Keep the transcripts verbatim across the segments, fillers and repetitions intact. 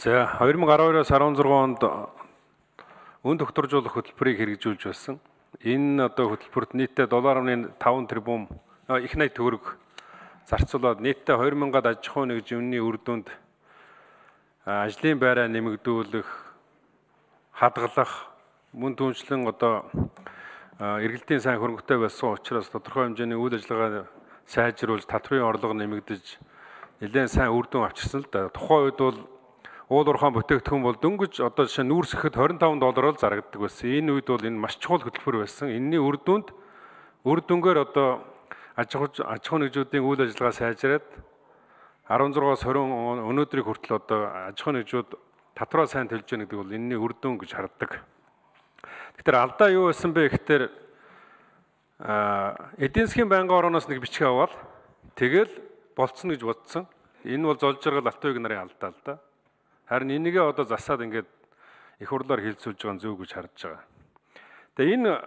За две тысячи двадцать двоос дөрвөн онд өн докторжуулах хөтөлбөрийг хэрэгжүүлж байсан. Энэ одоо хөтөлбөрт нийтдээ доллар амны таван тэрбум их найд төгрөг зарцуулаад нийтдээ две тысячи аж ахуй нэгжмийн үр дүнд ажлын байраа нэмэгдүүлэх, хадгалах, мөн түншлэн одоо эргэлтийн сайн хөрөнгөтэй байсан учраас тодорхой хэмжээний үйл ажиллагаа сайжруулж, татврын орлого нэмэгдэж, нэлээд сайн үр дүн авчирсан л да. Тухайн үед бол уул уурхайн бүтээгдэхүүн бол дөнгөж одоо жишээ нь нүүрс ихэд двадцать пять доллараар зарагддаг байсан. Энэ үед бол энэ маш чухал хөтөлбөр байсан. Энэний үр дүнд үр дүнгээр одоо аж ахуй аж ахуй нэгжүүдийн үйл ажиллагаа сайжраад16-аас двадцать өнөөдрийг хүртэл одоо аж ахуй нэгжүүд татвараа сайн төлж байгаа гэдэг бол энэний үр дүн гэж харддаг. Тэгэхээр алдаа юу байсан бэ гэхээр эдийн засгийн байнгын орооноос нэг бичиг аваад тэгэл болцсон гэж бодсон. Энэ бол золж жаргал автоёг нарын алдаа л да. Харин энийгээ одоо засаад ингээд их хурлаар хилцүүлж байгаа нь зөв гэж харж байгаа. Тэгээ энэ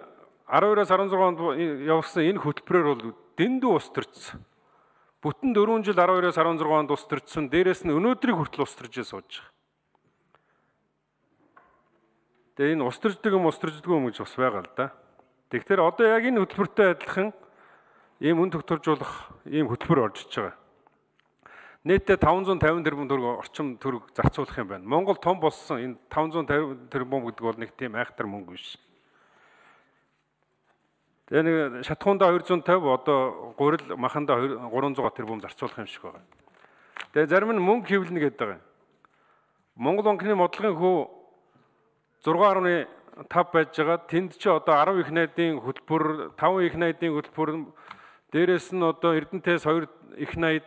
twelve-оос sixteen онд явуулсан энэ хөтөлбөрөөр бол дэндүү ус төрчихсөн. Бүтэн дөрвөн жил twelve-оос sixteen онд ус төрчихсөн. Дээрээс нь өнөөдрийг хүртэл ус төрж сууж байгаа. Тэгээ энэ ус төрждөг юм ус төрждөг юм гэж бас байгаа л да. Тэгэхээр одоо яг энэ хөтөлбөртэй адилхан ийм үн тогтворжуулах ийм хөтөлбөр орж иж байгаа. Нийтдээ five hundred fifty тэрбум төгрөг орчим төгрөг зарцуулах юм байна. Монгол том болсон энэ five hundred fifty тэрбум гэдэг бол нэг тийм айхтар мөнгө биш. Тэгээ нэг шатхуундаа two hundred fifty одоо гурил махандаа three hundred тэрбум зарцуулах юм шиг байна. Тэгээ зарим нь мөнгө хэвлэнэ гэдэг байгаа. Монгол банкны бодлогын хөө six point five байж байгаа. Тэнд чи одоо ten их найдын хөтөлбөр, five их найдын хөтөлбөр, дээрээс нь одоо Эрдэнэтээс two их найд,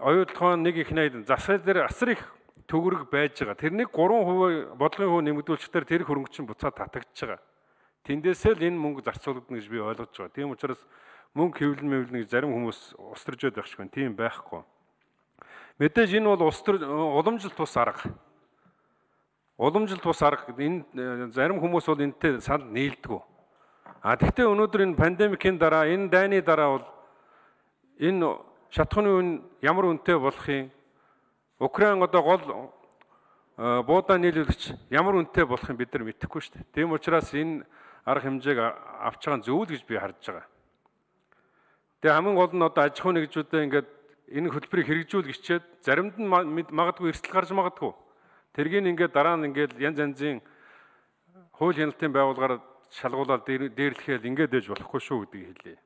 оюутлогын нэг их найд засал дээр асар их төгрөг байж байгаа. Тэрнийг three percent бодлогын хөө нэмэгдүүлчихээр тэр хөрөнгө чинь буцаад татагдж байгаа. Тэндээсээ л энэ мөнгө зарцуулагдана гэж би ойлгож байгаа. Тийм учраас мөнгө хэвлэн мэвлэн гэж зарим хүмүүс устарж байдаг шиг байна. Тийм байхгүй. Мэдээж энэ бол устар уламжлалт тус арга. Уламжлалт тус арга энэ зарим хүмүүс бол энэтэй санал нийлдэг. А тэгвэл өнөөдөр энэ пандемикийн дараа, энэ дайны дараа бол энэ шатхууны үн ямар үнэтэй болохын, Украин одоо гол буудаа нийлүүлэгч ямар үнэтэй болохын бид нар мэдэхгүй шүү дээ. Тийм учраас энэ арга хэмжээг авч байгаа нь зөв л гэж би харж байгаа. Тэгээ хамгийн гол нь одоо аж ахуй нэгжүүдээ ингээд энэ хөтөлбөрийг хэрэгжүүл гिचээд заримд нь магадгүй эрсдэл гарч магадгүй. Тэргийг ингээд дараа нь ингээд янз янзын хууль хяналтын байгууллагаар шалгуулаад дээрлэхэл ингээд ээж болохгүй шүү гэдгийг хэлье.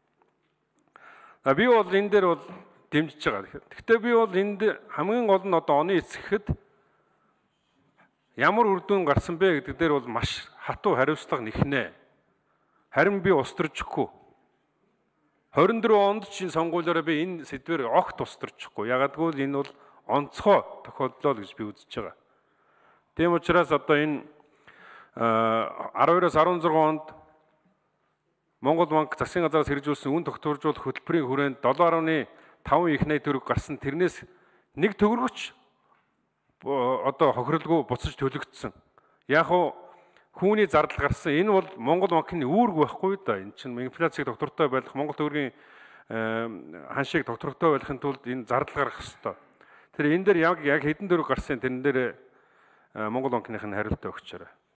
А би бол энэ дээр бол дэмжиж байгаа. Гэхдээ би бол энд хамгийн гол нь одоо оны эцэгэд ямар үр дүн гарсан бэ гэдэг дээр бол маш хатуу хариуцлага нэхнэ. Харин би устөрчихгүй. twenty-four онд чинь сонгуулиороо би энэ сэдвээр огт устөрчихгүй. Ягагтгүй энэ бол онцгой тохиолдол гэж би үзэж байгаа. Тийм учраас одоо энэ twelve-оос sixteen онд Монгол банк засгийн газараас хэрэгжүүлсэн үн тогтворжуулах хөтөлбөрийн хүрээнд seven point five их найд төгрөг гарсан. Тэрнээс нэг төгрөгч одоо хохирлгүй буцаж төлөгдсөн. Яг уу хүүний зардал гарсан. Энэ бол Монгол банкны үүрэг байхгүй да. Энэ чинь инфляцийг доктортой байлгах, Монгол төгрөгийн ханшийг доктортой байлгахын тулд энэ зардал гаргах ёстой. Тэр энэ дээр яг яг хэдэн төгрөг гарсан тэрэн дээр Монгол банкных нь хариултаа өгч байгаа.